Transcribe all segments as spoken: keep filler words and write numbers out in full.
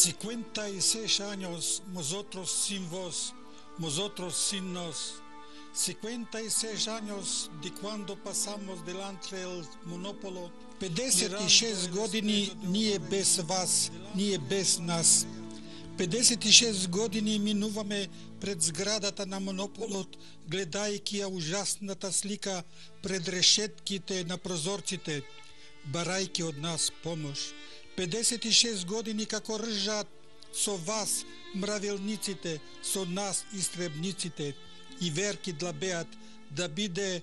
cinquenta e seis anos nosotros sin vos, nosotros sin nos. cinquenta e seis anos de quando passamos delante del monopolo. pedeset и шест години ние без вас, ние без нас. pedeset и шест години минуваме пред зградата на монополот, гледајќи ја ужасната слика пред решетките на прозорците, барајќи од нас помош. pedeset и шест години како ржат со вас мравелниците, со нас истребниците, и верки длабеат да биде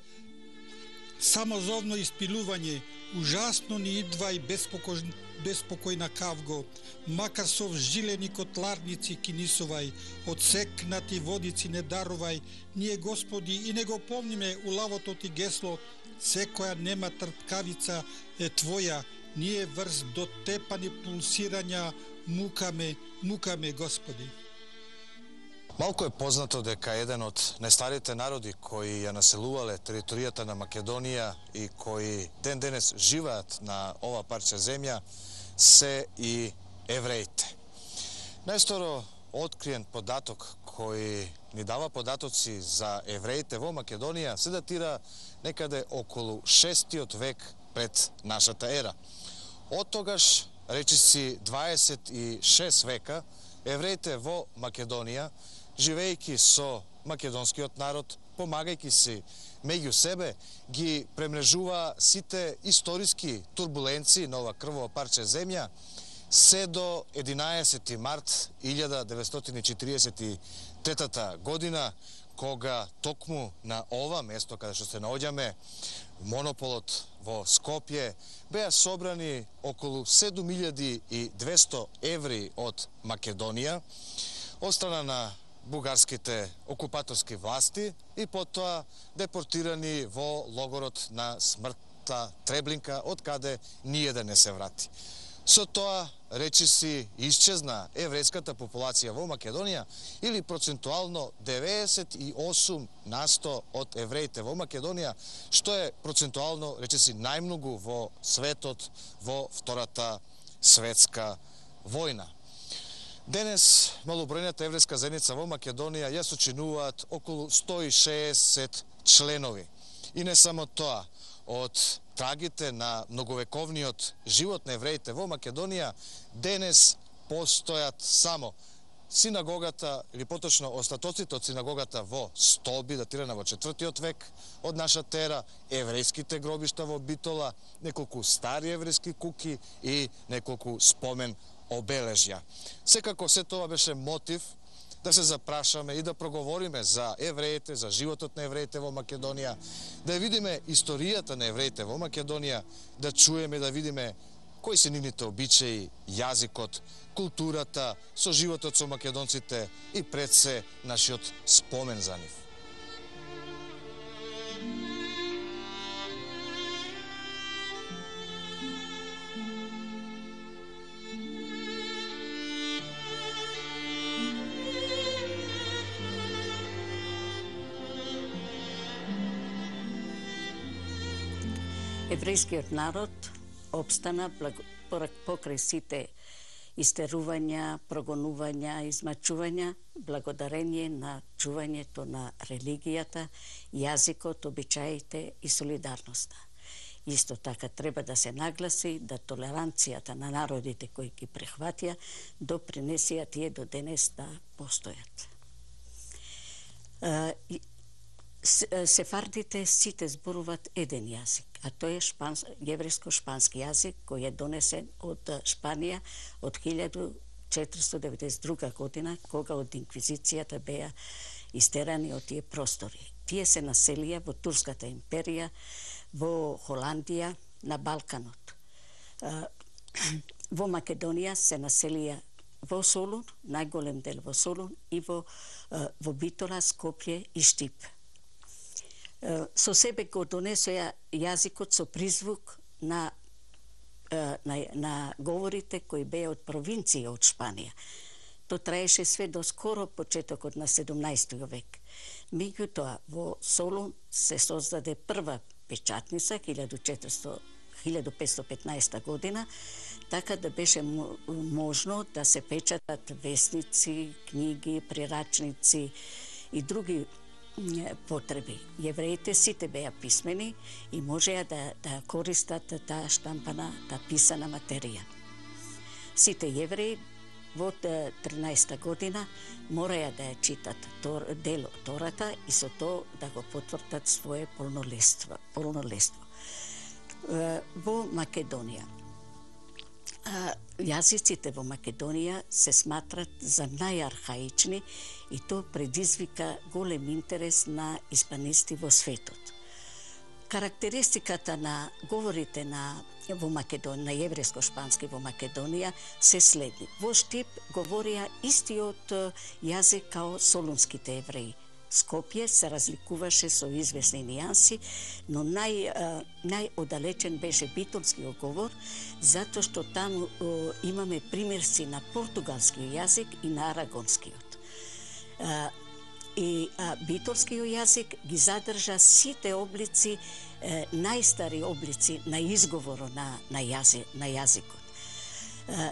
самозовно испилување, ужасно ни идва и безпокој, безпокојна кавго, макар со вжилени котларници кинисувај, одсекнати водици не дарувај, ние Господи и не го помниме улавото ти гесло, секоја нема трпкавица е Твоја, ние врз дотепани пулсирања мукаме, мукаме Господи. Малку е познато дека еден од најстарите народи кои ја населувале територијата на Македонија и кои ден денес живеат на ова парче земја се и евреите. Најсторо откриен податок кој ни дава податоци за евреите во Македонија се датира некаде околу шестиот век пред нашата ера. Од тогаш, речиси дваесет и шест века, евреите во Македонија, живејќи со македонскиот народ, помагајќи си меѓу себе, ги премрежува сите историски турбуленции на ова крвово парче земја, се до единаесети март илјада деветстотини и четиридесет и трета година, кога токму на ова место каде што се наоѓаме, монополот во Скопје, беа собрани околу седум илјади и двесто евреи од Македонија, од страна на бугарските окупаторски власти и потоа депортирани во логорот на смртта Треблинка, од каде ниједен не се врати. Со тоа, речиси, исчезна еврејската популација во Македонија или процентуално деветдесет и осум на сто од евреите во Македонија, што е процентуално, речиси, најмногу во светот во Втората светска војна. Денес малобројната еврејска заедница во Македонија ја сочинуваат околу сто и шеесет членови. И не само тоа, од трагите на многовековниот живот на евреите во Македонија, денес постојат само синагогата, или поточно остатоците од синагогата во Столби, датирана во четвртиот век од нашата ера, еврејските гробишта во Битола, неколку стари еврејски куки и неколку спомен обележја. Секако се тоа беше мотив да се запрашаме и да проговориме за евреите, за животот на евреите во Македонија, да видиме историјата на евреите во Македонија, да чуеме, да видиме кои се нивните обичаи, јазикот, културата, со животот со македонците и пред се нашиот спомен за нив. Еврејскиот народ обстана покрај сите истерувања, прогонувања, измачувања, благодарение на чувањето на религијата, јазикот, обичаите и солидарноста. Исто така треба да се нагласи да толеранцијата на народите кои ги прихватија допринесија тие до денес да постојат. Сефардите сите зборуваат еден јазик, а тој е шпанс, јеврејско-шпански јазик кој е донесен од Шпанија од илјада четиристотини деветдесет и друга година, кога од инквизицијата беа истерани од тие простори. Тие се населија во Турската империја, во Холандија, на Балканот. Во Македонија се населија во Солун, најголем дел во Солун, и во, во Битола, Скопје и Штип. Со себе го донесоја јазикот со призвук на, на, на говорите кои беа од провинција од Шпанија. То траеше све до скоро почетокот на седумнаесети век. Меѓутоа, во Солун се создаде прва печатница, илјада петстотини и петнаесета година. така да беше можно да се печатат весници, книги, прирачници и други потреби. Јевреите сите беа писмени и можеа да, да користат таа штампана, таа писана материја. Сите јевреи во тринаесетта година мораја да ја читат тор, дел од Тората и со тоа да го потврдат свое полнолетство. полнолетство. Во Македонија. Јазиците во Македонија се сматрат за најархаични и тоа предизвика голем интерес на испанисти во светот. Карактеристиката на говорите на во Македонија, на јеврејско-шпански во Македонија се следни. Во Штип говорија истиот јазик као солунските евреи. Скопје се разликуваше со известни нијанси, но нај, најодалечен беше битолскиот говор, затоа што таму имаме примерци на португалскиот јазик и на арагонскиот. И а, битолскиот јазик ги задржа сите облици, е, најстари облици на изговоро на, на, јази, на јазикот. Е,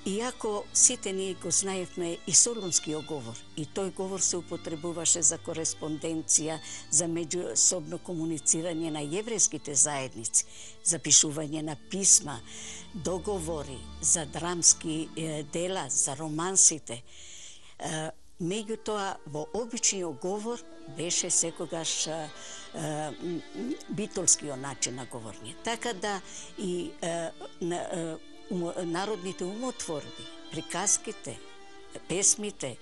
иако сите ние го знаевме и солунскиот говор, и тој говор се употребуваше за кореспонденција, за меѓусобно комуницирање на јеврејските заедници, за пишување на писма, договори, за драмски е, дела, за романсите. Е, Меѓутоа, во обичниот говор беше секогаш а, а, битолскиот начин на говорење. Така да и а, на, а, ум, народните умотворби, приказките, песмите,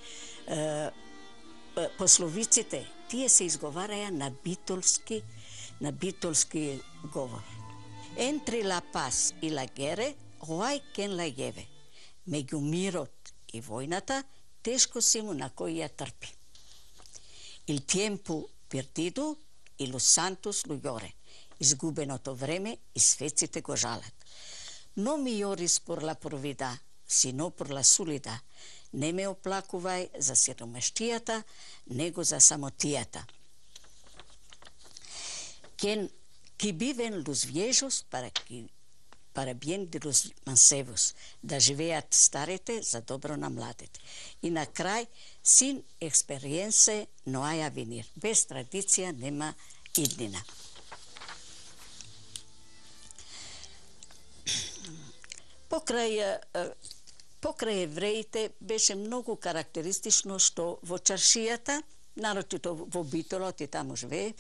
а, пословиците, тие се изговараја на битолски, на битолски говор. Entre la paz и la guerra, hoai ken la lleve. Меѓу мирот и војната, тешко си му на кој ја трпи. Il tiempo perdido и los santos lo lloren. Изгубеното време и светците го жалат. No mi lloris por la providad, sino por la soledad. Не ме оплакувај за сиромаштијата, него за самотијата. Quien que viven los viejos para que para bien de los mancebos, да живеат старите за добро на младите. И на крај, sin experiencia no hay avenir. Без традиција нема иднина. Покрај, покрај евреите беше многу карактеристично што во чаршијата, нарочито во Битолот и таму живее,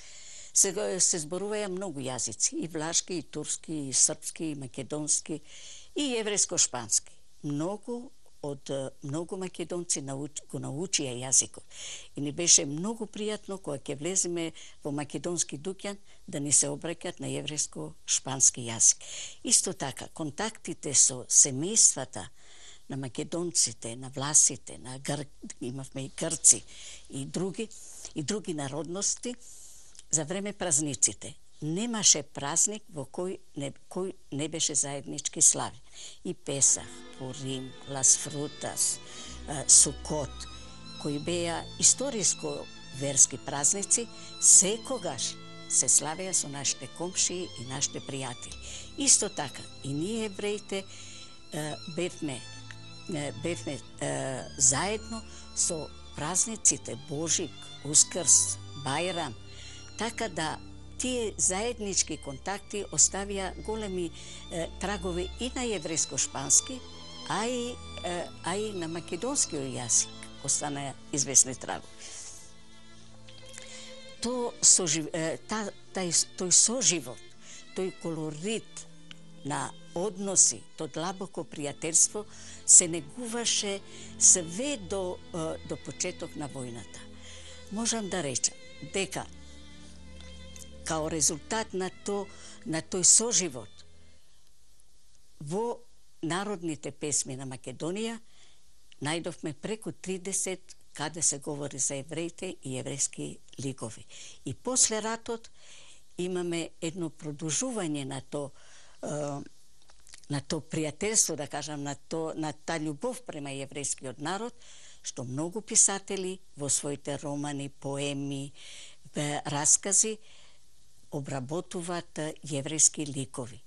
Се, се зборуваја многу јазици, и влашки, и турски, и српски, и македонски, и еврејско-шпански. Многу од многу македонци науч, го научија јазикот. И ни беше многу пријатно кога ќе влеземе во македонски дуќан да ни се обраќат на еврејско-шпански јазик. Исто така, контактите со семејствата на македонците, на власите, на гр... имавме и грци и други, и други народности, за време празниците. Немаше празник во кој не, кој не беше заеднички славен. И Песах, Пурим, Лас Фрутас, Сукот, кои беа историско верски празници, секогаш се славеа со нашите комшии и нашите пријатели. Исто така, и ние евреите бевме, бевме заедно со празниците Божик, Ускрс, Бајрам, така да тие заеднички контакти оставија големи е, трагови и на еврејско-шпански, а и, е, а и на македонскиот јазик останаа известни трагови. То сожив... та, тај, тој соживот, тој колорит на односи, то длабоко пријателство се негуваше све до, до почеток на војната. Можам да речам дека као резултат на, то, на тој соживот во народните песми на Македонија најдовме преку тридесет каде се говори за евреите и еврејски ликови. И после ратот имаме едно продолжување на то на то пријателство, да кажам, на то на та љубов према еврејскиот народ, што многу писатели во своите романи, поеми, раскази обработуваат јеврејски ликови.